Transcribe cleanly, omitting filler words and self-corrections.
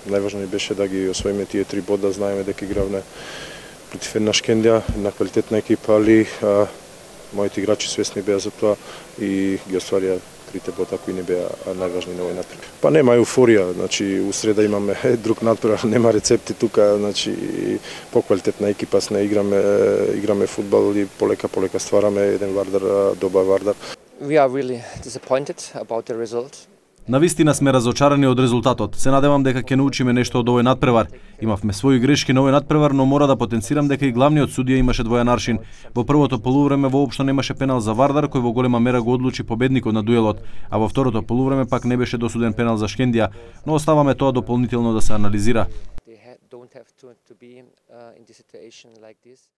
Најважно беше да ги освоиме тие 3 бода, знаеме дека игравме против една Шкендија, една квалитетна екипа, али моите играчи свесни беа за тоа и ги остварија 3 бода кои не беа најважни на овој натпревар. Па нема еуфорија, значи у среда имаме друг натпревар, нема рецепти тука, значи поквалитетна екипа сме, играме фудбал и полека ствараме еден Вардар, добар Вардар. We are really disappointed about the result. Навистина сме разочарани од резултатот. Се надевам дека ќе научиме нешто од овој натпревар. Имавме своји грешки на овој натпревар, но мора да потенцирам дека и главниот судија имаше двоен аршин. Во првото полувреме воопшто немаше пенал за Вардар, кој во голема мера го одлучи победникот на дуелот, а во второто полувреме пак не беше досуден пенал за Шкендија, но оставаме тоа дополнително да се анализира.